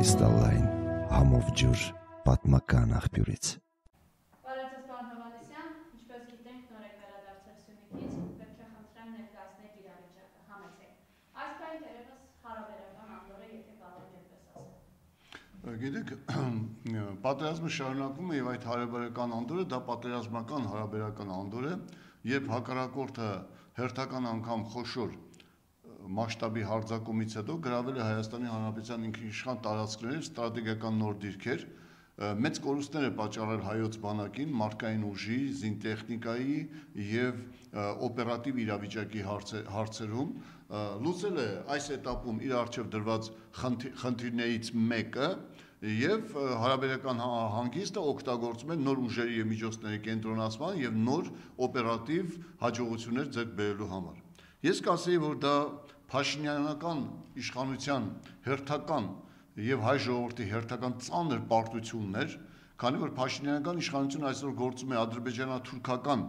Կրիստալային համով ջուր պատմական աղբյուրից։ Բարև ձեզ, պարոն Հովհաննիսյան, ինչպես գիտենք, նոր եք վերադարձել Սյունիքից, պետք է խնդրեմ ներկայացնեք իրավիճակը, համեցեք։ Այս պայն դերևս հարաբերական անդոր է, եթե կարող եք այդպես ասել։ Գիտեք, պատերազմը շարունակվում է եւ այդ հարաբերական անդորը դա պատերազմական հարաբերական անդոր է, երբ հակառակորդը հերթական անգամ խոշոր մասշտաբի հարձակումից հետո գրավել է Հայաստանի Հանրապետության ինքնիշխան տարածքներ, ստրատեգիական նոր դիրքեր, մեծ կորուստներ է պատճառել հայոց բանակին, մարդկային ուժի, զինտեխնիկայի եւ օպերատիվ իրավիճակի հարցերում, լուծել է այս этаպում իր առջև դրված խնդիրներից մեկը եւ հարաբերական հանգիստը օգտագործում է նոր ուժերի եւ միջոցների կենտրոնացման եւ նոր օպերատիվ հաջողություններ ձեռք բերելու համար։ Ես կասեի, որ դա Փաշինյանական իշխանության հերթական եւ հայ ժողովրդի հերթական ծանր պարտություններ, քանի որ Փաշինյանական իշխանությունը այսօր գործում է ադրբեջանա-թուրքական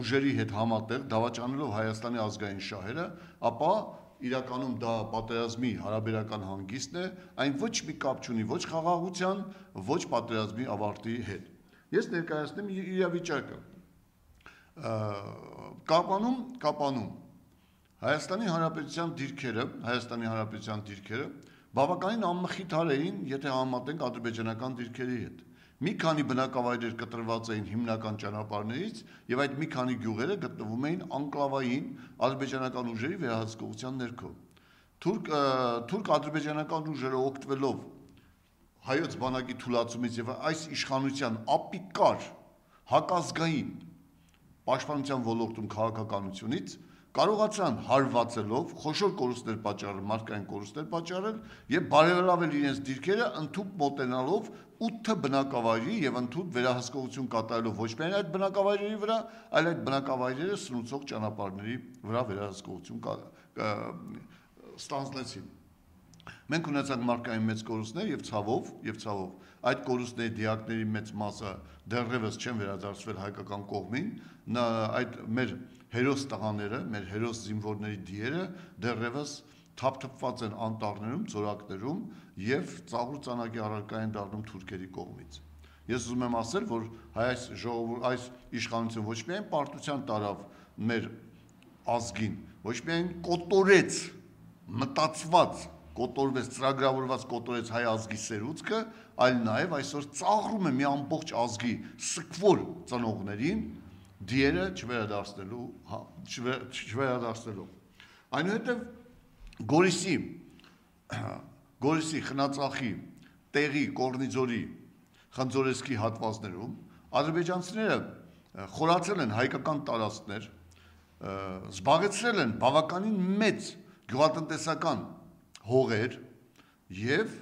ուժերի հետ համատեղ, դավաճանելով Հայաստանի ազգային շահերը, ապա իրականում դա պատերազմի հարաբերական հանգիստն է, այն ոչ մի կապ չունի ոչ խաղաղության, ոչ պատերազմի ավարտի հետ։ Ես ներկայացնեմ իրավիճակը։ Կապանում Հայաստանի Հանրապետության դիրքերը բավականին անմխիթար էին, եթե համեմատենք ադրբեջանական դիրքերի հետ։ Մի քանի բնակավայրեր կտրված էին հիմնական ճանապարհներից եւ այդ մի քանի գյուղերը գտնվում էին անկլավային ադրբեջանական ուժերի վերահսկողության ներքո։ Թուրք-ադրբեջանական ուժերը օգտվելով հայոց բանակի թուլացումից եւ այս իշխանության ապիկար հակազգային պաշտպանության ոլորտում քաղաքականությունից կարողացան հարվածելով, խոշոր կորուստներ պատճառել, մարդկային կորուստներ պատճառել եւ բարելավել իրենց դիրքերը ընդཐུպ մոտենալով 8 բնակավայրի եւ ընդཐուպ վերահսկողություն կատարելով ոչ միայն այդ բնակավայրերի վրա, այլ այդ բնակավայրերը սնուցող ճանապարհների վրա վերահսկողություն ստանձնեցին։ Մենք ունեցանք մարդկային մեծ կորուստներ եւ ցավով այդ կորուստների դիակների մեծ մասը դեռևս չեն վերադարձվել հայկական կողմին, այդ մեր հերոս տղաները, մեր հերոս զինվորների դիերը դեռևս թափթփված են անտառներում, ծորակներում եւ ծաղուր ծանակի առարկա են դառնում թուրքերի կողմից։ Ես ուզում եմ ասել, որ այս իշխանությունը ոչ միայն պարտության տարավ մեր ազգին, ոչ միայն կոտորեց, մտածված, կոտորվեց, ծրագրավորված կոտորեց հայ ազգի սերուցքը, այլ նաեւ այսօր ծաղրում է մի ամբողջ ազգի սկվոր ծնողներին դիերը չվերադարձնելու։ Այնուհետև Գորիսի, Խնածախի, Տեղի, Կորնիձորի, Խնձորեսկի հատվածներում ադրբեջանցիները խորացել են հայկական տարածքներ, զբաղեցրել են բավականին մեծ գյուղատնտեսական հողեր եւ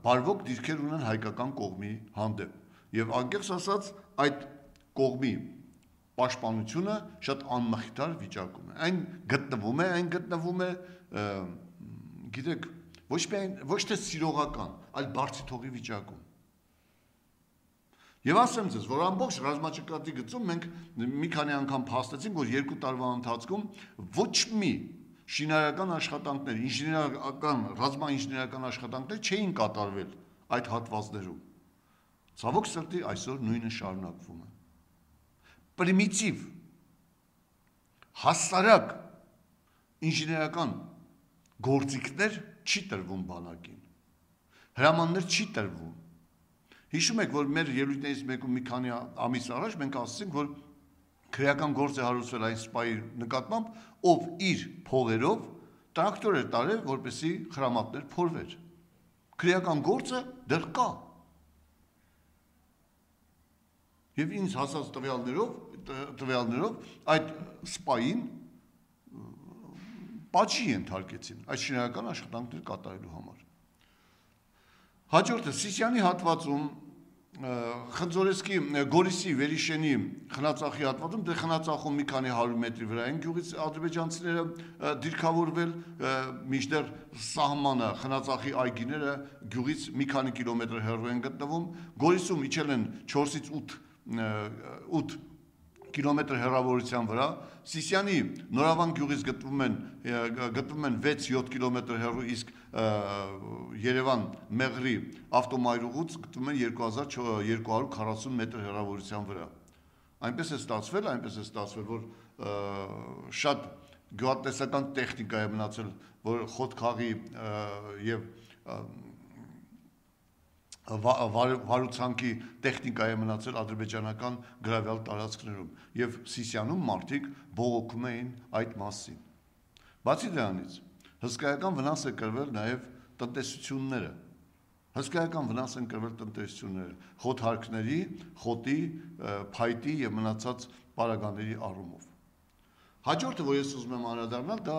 բարվոք դիրքեր ունեն հայկական կողմի հանդեպ։ Եվ անկեղծ ասած այդ կողմի պաշտպանությունը շատ անմխիթար վիճակում է։ Այն գտնվում է, գիտեք, ոչ թե սիրողական, այլ բարձիթողի վիճակում։ Եվ ասեմ ձեզ, որ ամբողջ ռազմաճակատի գծում մենք մի քանի անգամ փաստեցինք, որ 2 տարվա ընթացքում ոչ մի շինարարական աշխատանքներ, ռազմաինժեներական աշխատանքներ չէին կատարվել այդ հատվածներում։ Ցավոք սրտի այսօր նույնը շարունակվում է։ Պրիմիտիվ, հասարակ ինժեներական գործիքներ չի տրվում բանակին, հրամաններ չի տրվում։ Հիշում եք, որ մեր ելույթներից մեկում մի քանի ամիս առաջ մենք ասացինք, որ քրեական գործ է հարուցվել այն սպայի նկատմամբ, ով իր փողերով տրակտոր էր տարել, որպեսզի խրամատներ փորվեր։ Քրեական գործը դեռ կա։ Եվ ինձ հասած տվյալներով այդ սպային պատժի ենթարկեցին այդ շինարարական աշխատանքներ կատարելու համար։ Հաջորդը Սիսիանի հատվածում Խնձորեսկի, Գորիսի, Վերիշենի, Խնածախի հատվածում, դե Խնածախում մի քանի 100 մետրի վրա են գյուղից ադրբեջանցիները դիրքավորվել, մինչդեռ սահմանը Խնածախի այգիները գյուղից մի քանի կիլոմետր հեռու են գտնվում, Գորիսում իջել են 4-ից 8 կիլոմետր հեռավորության վրա, Սիսիանի Նորավան գյուղից գտնվում են 6-7 կիլոմետր հեռու, իսկ Երևան Մեղրի ավտոմայրուղուց գտնվում են 2240 մետր հեռավորության վրա։ Այնպես է ստացվել, որ շատ գյուղատնտեսական տեխնիկա է մնացել, որ խոտքաղի եւ վարուցանքի տեխնիկա է մնացել ադրբեջանական գրավյալ տարածքներում եւ Սիսիանում մարդիկ բողոքում էին այդ մասին։ Բացի դրանից հսկայական վնաս է կրվել նաեւ տնտեսությունները։ Խոթհարկների, խոտի, փայտի եւ մնացած պարագաների առումով։ Հաջորդը, որ ես ուզում եմ անդրադառնալ, դա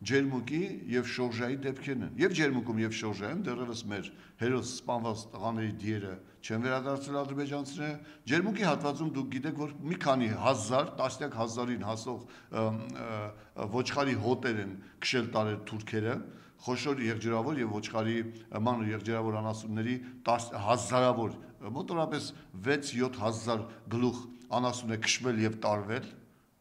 ջերմուկի եւ շորժայի դեպքերն են։ Եվ ջերմուկում եւ շորժայում դեռևս մեր հերոս սպանված տղաների դիերը չեն վերադարձել ադրբեջանցիները։ Ջերմուկի հատվածում դուք գիտեք, որ մի քանի հազար, տասնյակ հազարին հասող ոչխարի հոտեր են քշել տարել թուրքերը, խոշոր եղջերավոր եւ ոչխարի մանր եղջերավոր անասունների հազարավոր, մոտավորապես 6-7 հազար գլուխ անասուն է քշվել եւ տարվել,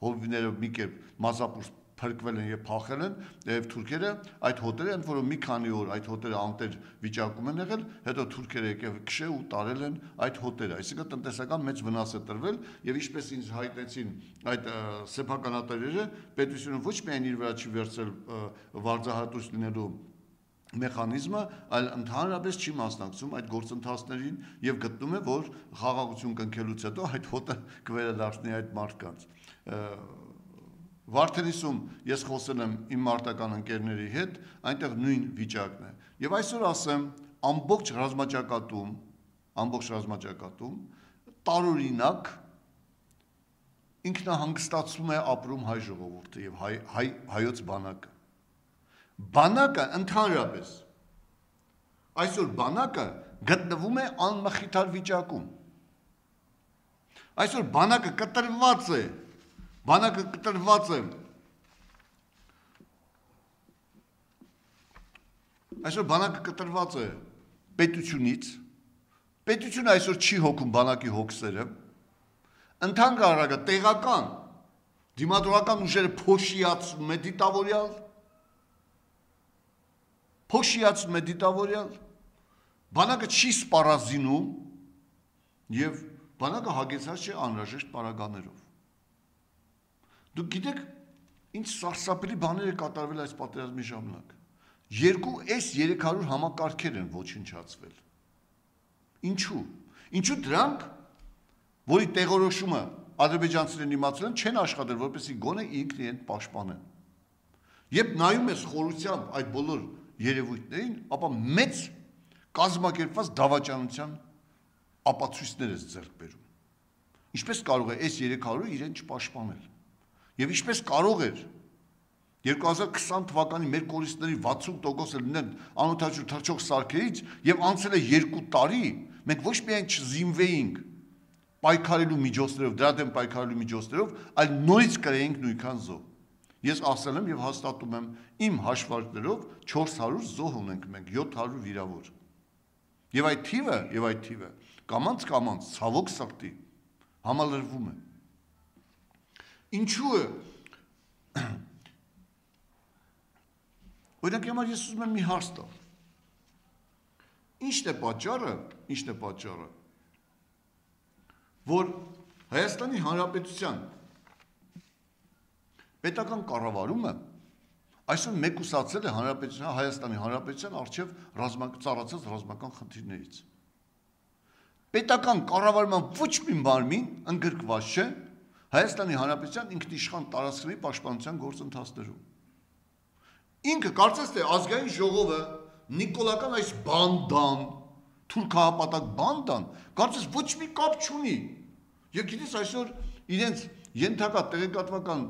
հովիվները մի կերպ մազապուր փրկվել են եւ փախել են, եւ թուրքերը այդ հոտերը, ընդ որում մի քանի օր այդ հոտերը անտեր վիճակում են եղել, հետո թուրքերը եկել քշել ու տարել են այդ հոտերը, այսինքն տնտեսական մեծ վնաս է տրվել եւ ինչպես ինձ հայտնեցին այդ սեփականատերերը, պետությունը ոչ միայն իր վրա չի վերցրել վարձահատույց լինելու մեխանիզմը, այլ ընդհանրապես չի մասնակցում այդ գործընթացներին եւ գտնում է, որ խաղաղություն կնքելուց հետո այդ հոտը կվերադառնի այդ մարդկանց։ Վարդենիսում ես խոսել եմ իմ մարտական ընկերների հետ, այնտեղ նույն վիճակն է։ Եվ այսօր ասեմ, ամբողջ ռազմաճակատում տարօրինակ ինքնահանգստացում է ապրում հայ ժողովուրդը եւ հայոց բանակը։ Բանակը ընդհանրապես այսօր բանակը գտնվում է անմխիթար վիճակում։ Այսօր բանակը կտրված է պետությունից, պետությունը այսօր չի հոգում բանակի հոգսերը, ընդհանրապես տեղական դիմադրական ուժերը փոշիացնում է դիտավորյալ, բանակը չի սպառազինում եւ բանակը հագեցած չէ անհրաժեշտ պարագաներով։ Դուք գիտեք, ինչ սարսափելի բաներ է կատարվել այս պատերազմի ժամանակ։ 2 S-300 համակարգեր են ոչնչացվել։ Ինչու դրանք, որի տեղորոշումը ադրբեջանցիներն իմացել են, չեն աշխատել, որպեսզի գոնե ինքն իրեն պաշտպանեն։ Երբ նայում ես խորությամբ այդ բոլոր երևույթներին, ապա մեծ կազմակերպված դավաճանության ապացույցներ է ձեռք բերում։ Ինչպես կարող է S-300-ը իրեն չպաշտպանել։ Եվ ինչպես կարող էր 2020 թվականի մեր կորիստների 60%-ը լինեն անօթաչու թռչող սարքերից եւ անցել է 2 տարի, մենք ոչ միայն չզինվեինք պայքարելու միջոցներով, դրա դեմ պայքարելու միջոցներով, այլ նորից կրեինք նույնքան զոհ։ Ես ասել եմ եւ հաստատում եմ իմ հաշվարկներով 400 զոհ ունենք մենք, 700 վիրավոր։ Եվ այդ թիվը կամանց ցավոք սրտի համալրվում է։ Ինչու է։ Օրինակ համար ես ուզում եմ մի հարց տալ։ Ինչն է պատճառը, որ Հայաստանի Հանրապետության պետական կառավարումը այսօր մեկուսացել է Հայաստանի Հանրապետության առջև ծառացած ռազմական խնդիրներից։ Պետական կառավարման ոչ մի մարմին ընդգրկված չէ Հայաստանի Հանրապետության ինքնիշխան տարածքների պաշտպանության գործընթացներում։ Ինքը կարծես թե ազգային ժողովը նիկոլական այս բանդան, թուրքահապատակ բանդան, կարծես ոչ մի կապ չունի։ Եվ գիտես այսօր իրենց ենթակա տեղեկատվական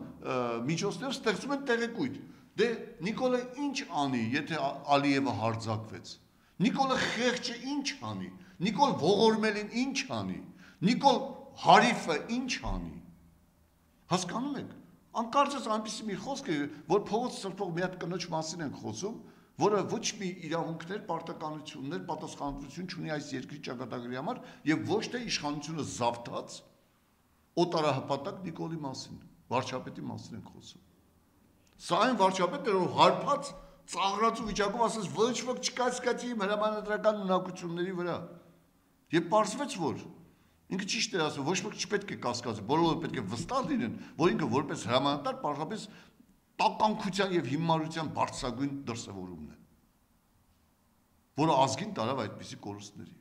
միջոցներով ստեղծում են տեղեկույթ։ Դե Նիկոլը ինչ անի, եթե Ալիևը հարձակվեց։ Նիկոլը խեղճը ինչ անի։ Նիկոլ ողորմելին ինչ անի։ Նիկոլ Հարիֆը ինչ անի։ Հասկանում եք, անկարծես այնպիսի մի խոսք է, որ փողոց սրբող մի հատ կնոջ մասին ենք խոսում, որը ոչ մի իրավունքներ, պարտականություններ, պատասխանատվություն չունի այս երկրի ճակատագրի համար եւ ոչ թե իշխանությունը զավթած օտարահպատակ Նիկոլի մասին, վարչապետի մասին ենք խոսում։ Սա այն վարչապետն էր, որ հարբած ծաղրած ու վիճակով ասես ոչ ոք չկա իմ հրամանատարական ունակությունների վրա։ Եվ պարզվեց, որ ինքը ճիշտ է ասում, ոչ ոք չպետք է կասկածի, բոլորը պետք է վստահ լինեն, որ ինքը որպես հրամանատար պարզապես տականքության եւ հիմարության բարձրագույն դրսևորումն է, որը ազգին տարավ այդպիսի կորուստների։